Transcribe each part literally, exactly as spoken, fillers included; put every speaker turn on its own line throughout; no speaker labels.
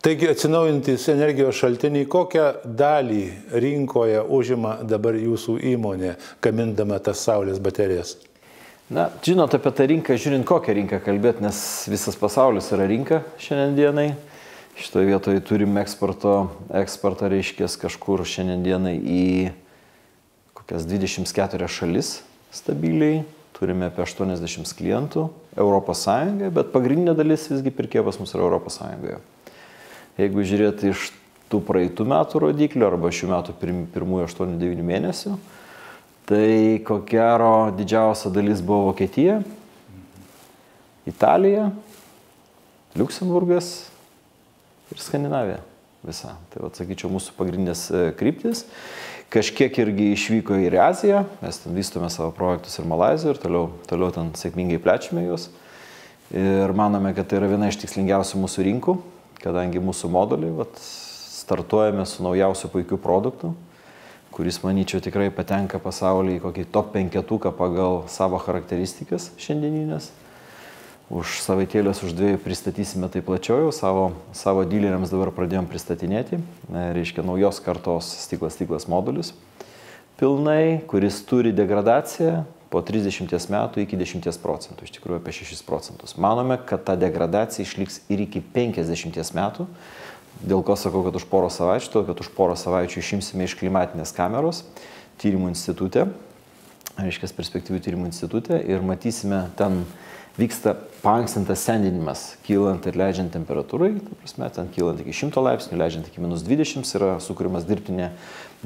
Taigi atsinaujinantys energijos šaltiniai, kokią dalį rinkoje užima dabar jūsų įmonė, gamindama tas saulės baterijas?
Na, žinot, apie tą rinką, žiūrint kokią rinką kalbėti, nes visas pasaulis yra rinka šiandien dienai. Šitoje vietoje turime eksporto, eksportą reiškės kažkur šiandien dienai į kokias dvidešimt keturias šalis stabiliai. Turime apie aštuoniasdešimt klientų Europos Sąjungoje, bet pagrindinė dalis visgi pirkėjų pas mus yra Europos Sąjungoje. Jeigu žiūrėti iš tų praeitų metų rodiklių arba šių metų pirmųjų aštuonių devynių mėnesių, tai ko gero didžiausia dalis buvo Vokietija, Italija, Liuksemburgas ir Skandinavija visa. Tai atsakyčiau mūsų pagrindinės kryptis. Kažkiek irgi išvyko ir į Aziją, mes ten vystome savo projektus ir Malaizijoje ir toliau, toliau ten sėkmingai plečiame juos. Ir manome, kad tai yra viena iš tikslingiausių mūsų rinkų, kadangi mūsų moduliai, vat, startuojame su naujausiu puikiu produktu, kuris, manyčiau, tikrai patenka pasaulyje į kokį top penketuką pagal savo charakteristikas šiandieninės. Už savaitėlės, už dviejų pristatysime tai plačiau, savo, savo dyleriams dabar pradėjom pristatinėti, reiškia naujos kartos stiklas stiklas modulius pilnai, kuris turi degradaciją po trisdešimties metų iki dešimties procentų, iš tikrųjų apie šešis procentus. Manome, kad ta degradacija išliks ir iki penkiasdešimties metų, dėl ko sakau, kad už porą savaičių, todėl kad už porą savaičių išimsime iš klimatinės kameros tyrimų institute, reiškia perspektyvių tyrimų institute, ir matysime, ten vyksta paankstintas sendinimas, kylant ir leidžiant temperatūrai, ta prasme, ten kylant iki šimto laipsnių, leidžiant iki minus dvidešimt, yra sukūrimas dirbtinė,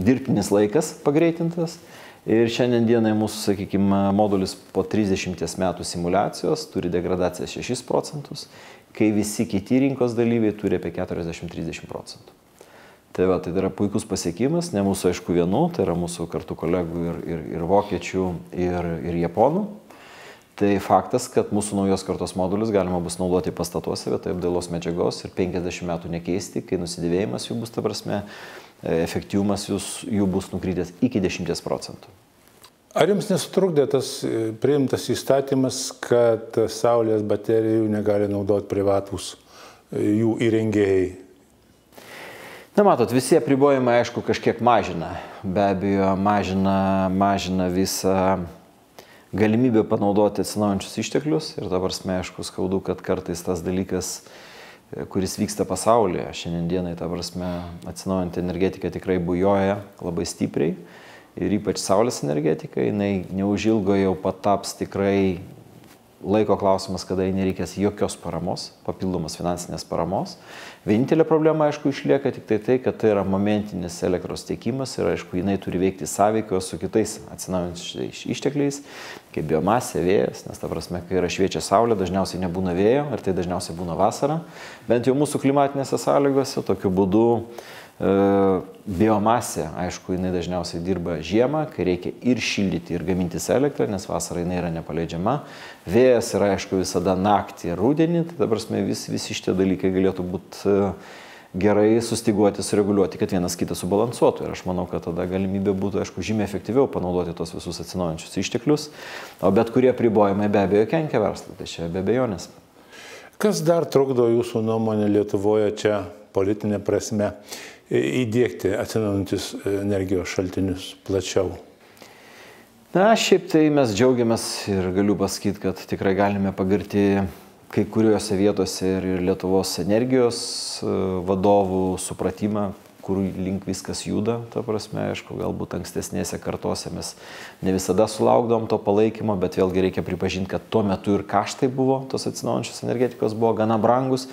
dirbtinis laikas pagreitintas. Ir šiandien dienai mūsų, sakykime, modulis po trisdešimties metų simulacijos turi degradaciją šešis procentus, kai visi kiti rinkos dalyviai turi apie keturiasdešimt trisdešimt procentų. Tai, va, tai yra puikus pasiekimas, ne mūsų aišku vienų, tai yra mūsų kartu kolegų ir, ir, ir vokiečių, ir, ir japonų. Tai faktas, kad mūsų naujos kartos modulius galima bus naudoti pastatuose vietoje apdailos medžiagos ir penkiasdešimt metų nekeisti, kai nusidėvėjimas jų bus, ta prasme, efektyvumas jų bus nukrytęs iki dešimties procentų.
Ar jums nesutrukdė tas priimtas įstatymas, kad saulės baterijų negali naudoti privatūs jų įrengėjai?
Na, matot, visi apribojimai, aišku, kažkiek mažina. Be abejo, mažina, mažina visą galimybę panaudoti atsinaujančius išteklius. Ir dabar, aišku, skaudu, kad kartais tas dalykas, kuris vyksta pasaulyje, šiandien dienai, ta prasme, atsinaujinti energetika tikrai bujoja labai stipriai. Ir ypač saulės energetika, jinai neužilgo jau pataps tikrai laiko klausimas, kada jai nereikės jokios paramos, papildomos finansinės paramos. Vienintelė problema, aišku, išlieka tik tai tai, kad tai yra momentinis elektros tiekimas ir, aišku, jinai turi veikti sąveikoje su kitais atsinaujančiais ištekliais, kaip biomasė, vėjas, nes ta prasme, kai yra šviečia saulė, dažniausiai nebūna vėjo, ir tai dažniausiai būna vasara. Bent jau mūsų klimatinėse sąlygose, tokiu būdu biomasė, aišku, jinai dažniausiai dirba žiemą, kai reikia ir šildyti, ir gamintis elektrą, nes vasara jinai yra nepaleidžiama. Vėjas yra, aišku, visada naktį ir rudenį, tai dabar vis, visi šitie dalykai galėtų būti gerai sustiguoti, sureguliuoti, kad vienas kitą subalansuotų. Ir aš manau, kad tada galimybė būtų, aišku, žymiai efektyviau panaudoti tos visus atsinaujančius išteklius, o bet kurie apribojimai be abejo kenkia verslui, tai čia be abejonės.
Kas dar trukdo jūsų nuomonė Lietuvoje čia politinė prasme įdiegti atsinaujančius energijos šaltinius plačiau?
Na, šiaip tai mes džiaugiamės ir galiu pasakyti, kad tikrai galime pagirti kai kuriuose vietose ir Lietuvos energijos vadovų supratimą, kur link viskas juda, ta prasme, aišku, galbūt ankstesnėse kartose mes ne visada sulaukdavom to palaikymo, bet vėlgi reikia pripažinti, kad tuo metu ir kaštai buvo, tos atsinaujančios energetikos buvo gana brangus.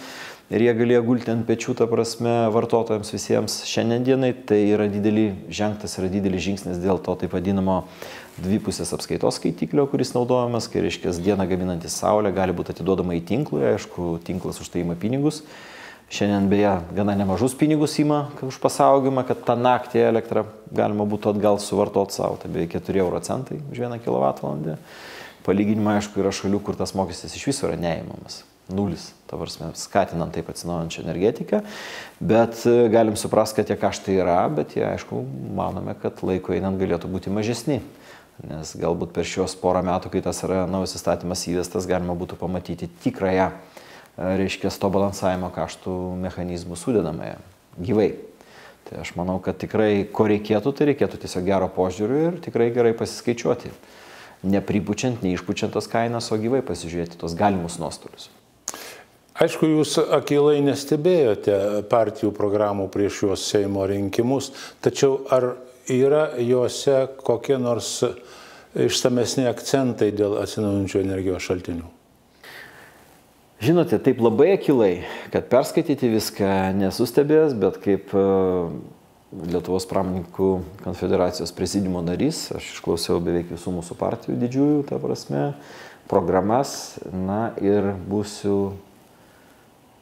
Ir jie galėjo gulti ant pečių, ta prasme, vartotojams visiems. Šiandien dienai tai yra didelį žengtas, yra didelis žingsnis dėl to taip vadinamo dvipusės apskaitos skaitiklio, kuris naudojamas, kai reiškia dieną gaminantis saulė gali būti atiduodama į tinklą, aišku, tinklas už tai ima pinigus. Šiandien beje gana nemažus pinigus ima už pasaugimą, kad tą naktį elektrą galima būtų atgal suvartoti savo, tai beveik keturi euro centai už vieną kilovatvalandę. Palyginimą, aišku, yra šalių, kur tas mokestis iš viso yra neįmamas. Nulis, ta prasme, skatinant taip atsinaujančią energetiką, bet galim suprasti, kad tie kaštai yra, bet jie, aišku, manome, kad laiko einant galėtų būti mažesni, nes galbūt per šios porą metų, kai tas yra naujas įstatymas įvestas, galima būtų pamatyti tikrąją reiškia, to balansavimo kaštų mechanizmų sudedamąją gyvai. Tai aš manau, kad tikrai, ko reikėtų, tai reikėtų tiesiog gero požiūrių ir tikrai gerai pasiskaičiuoti. Nepripučiant, neišpučiant tas kainas, o gyvai pasižiūrėti tos galimus nuostolius.
Aišku, jūs akylai nestebėjote partijų programų prieš juos Seimo rinkimus, tačiau ar yra juose kokie nors išsamesni akcentai dėl atsinaujinančių energijos šaltinių?
Žinote, taip labai akylai, kad perskaityti viską nesustebės, bet kaip Lietuvos pramonininkų konfederacijos prezidiumo narys, aš išklausiau beveik visų mūsų partijų didžiųjų, ta prasme, programas, na ir būsiu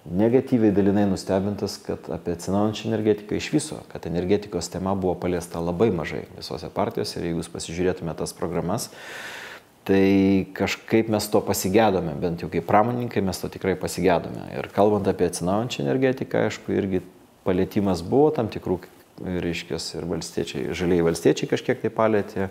negatyviai dalinai nustebintas, kad apie atsinaujinančią energetiką iš viso, kad energetikos tema buvo paliesta labai mažai visose partijose ir jeigu jūs pasižiūrėtume tas programas, tai kažkaip mes to pasigėdome, bent jau kaip pramonininkai mes to tikrai pasigėdome. Ir kalbant apie atsinaujinančią energetiką, aišku, irgi palėtimas buvo tam tikrų, reiškia, ir valstiečiai, žalieji valstiečiai kažkiek tai palėtė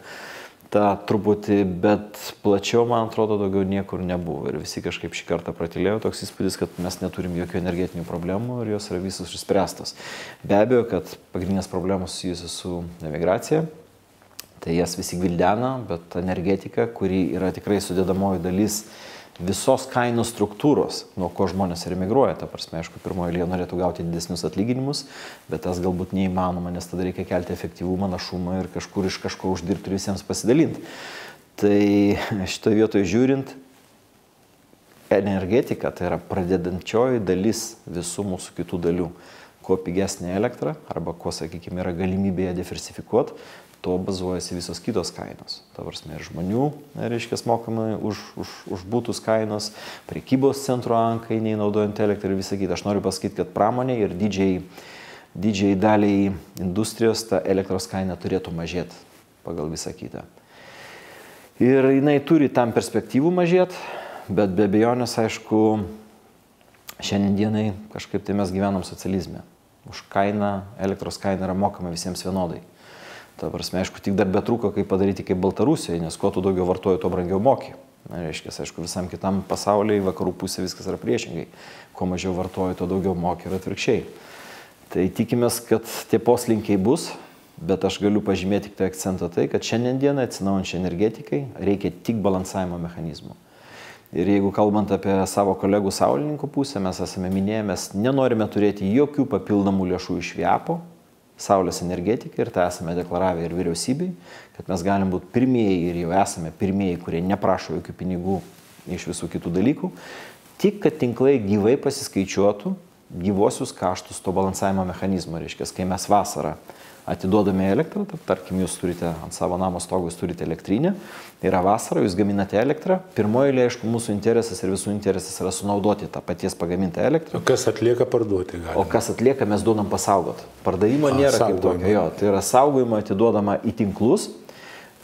tą truputį, bet plačiau, man atrodo, daugiau niekur nebuvo. Ir visi kažkaip šį kartą pratylėjo toks įspūdis, kad mes neturim jokių energetinių problemų ir jos yra visos išspręstos. Be abejo, kad pagrindinės problemos susijusios su emigracija. Tai jas visi gvildena, bet energetika, kuri yra tikrai sudėdamoji dalis visos kainų struktūros, nuo ko žmonės ir emigruoja. Ta prasme, aišku, pirmoje eilėje norėtų gauti didesnius atlyginimus, bet tas galbūt neįmanoma, nes tada reikia kelti efektyvumą, našumą ir kažkur iš kažko uždirbti ir visiems pasidalinti. Tai šitoje vietoje žiūrint, energetika tai yra pradedančioji dalis visų mūsų kitų dalių. Kuo pigesnė elektra, arba kuo, sakykime, yra galimybė ją diversifikuoti, to bazuojasi visos kitos kainos. Ta prasme, ir žmonių, reiškia, mokama už, už, už būtus kainos, prekybos centro ankainiai naudojant elektrą ir visą kitą. Aš noriu pasakyti, kad pramonė ir didžiai, didžiai daliai industrijos ta elektros kaina turėtų mažėti pagal visą kitą. Ir jinai turi tam perspektyvų mažėti, bet be abejonės, aišku, šiandien dienai kažkaip tai mes gyvenam socializme. Už kainą, elektros kaina yra mokama visiems vienodai. Ta prasme, aišku, tik dar betrūko, kaip padaryti kaip Baltarusijoje, nes kuo tu daugiau vartoji, tuo brangiau moki. Na, reiškia, aišku, visam kitam pasaulyje, vakarų pusė viskas yra priešingai. Kuo mažiau vartoji, tuo daugiau moki ir atvirkščiai. Tai tikimės, kad tie poslinkiai bus, bet aš galiu pažymėti tik tai akcentą tai, kad šiandien dieną atsinaujančiai energetikai reikia tik balansavimo mechanizmų. Ir jeigu kalbant apie savo kolegų saulininkų pusę, mes esame minėję, mes nenorime turėti jokių papildomų lėšų iš VIAPO, Saulės energetikai, ir tai esame deklaravę ir vyriausybei, kad mes galim būti pirmieji ir jau esame pirmieji, kurie neprašo jokių pinigų iš visų kitų dalykų, tik kad tinklai gyvai pasiskaičiuotų gyvosius kaštus to balansavimo mechanizmo. Reiškia, kai mes vasarą atiduodame elektrą, tarkim, jūs turite ant savo namo stogo, jūs turite elektrinę, yra vasara, jūs gaminate elektrą, pirmoje eilėje, aišku, mūsų interesas ir visų interesas yra sunaudoti tą paties pagamintą elektrą.
O kas atlieka, parduoti galima.
O kas atlieka, mes duodam pasaugot. Pardavimo A, nėra kaip tokio, jo, tai yra saugojimo atiduodama į tinklus.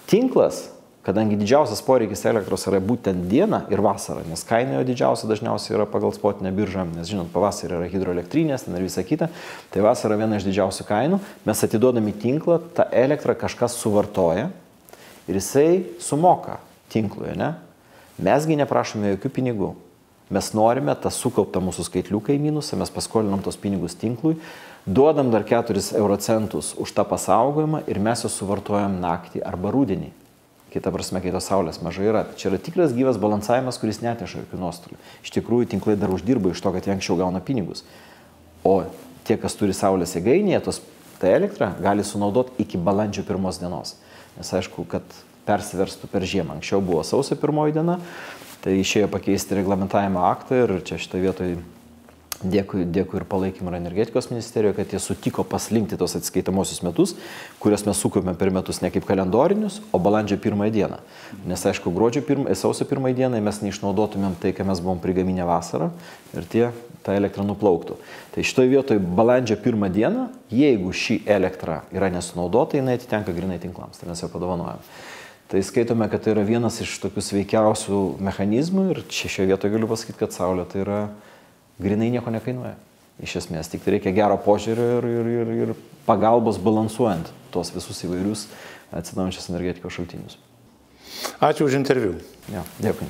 Tinklas, kadangi didžiausias poreikis elektros yra būtent diena ir vasara, nes kaina jo didžiausia dažniausiai yra pagal spotinę biržą, nes žinot, pavasarį yra hidroelektrinės, ten ir visa kita, tai vasara viena iš didžiausių kainų, mes atiduodami tinklą, tą elektrą kažkas suvartoja ir jisai sumoka tinklui, ne? Mesgi neprašome jokių pinigų, mes norime tą sukauptą mūsų skaitliuką į minusą, mes paskolinam tos pinigus tinklui, duodam dar keturis eurocentus už tą pasaugojimą ir mes juos suvartojam naktį arba rudenį. Kita prasme, kai tos saulės mažai yra. Čia yra tikras gyvas balansavimas, kuris neteša jokių nuostolių. Iš tikrųjų, tinklai dar uždirba iš to, kad jie anksčiau gauna pinigus. O tie, kas turi saulės jėgainėje, tos tą elektrą gali sunaudoti iki balandžio pirmos dienos. Nes aišku, kad persiverstų per žiemą. Anksčiau buvo sausio pirmoji diena, tai išėjo pakeisti reglamentavimo aktą ir čia šitoje vietoje Dėkui, dėkui ir palaikymą ir energetikos ministerijoje, kad jie sutiko paslinkti tos atskaitamosius metus, kurias mes sukaupėme per metus ne kaip kalendorinius, o balandžio pirmąją dieną. Nes aišku, gruodžio pirmąją, sausio pirmąją dieną mes neišnaudotumėm tai, ką mes buvom prigaminę vasarą ir tie tą elektrą nuplauktų. Tai šitoje vietoje balandžio pirmą dieną, jeigu ši elektra yra nesunaudota, jinai atitenka grinai tinklams, tai mes jau padovanojame. Tai skaitome, kad tai yra vienas iš tokių sveikiausių mechanizmų ir šioje vietoje galiu pasakyti, kad saulė tai yra grinai nieko nekainuoja. Iš esmės, tik tai reikia gero požiūrio ir, ir, ir, ir pagalbos balansuojant tos visus įvairius atsinaujančios energetikos šaltinius.
Ačiū už interviu.
Ja, dėkui.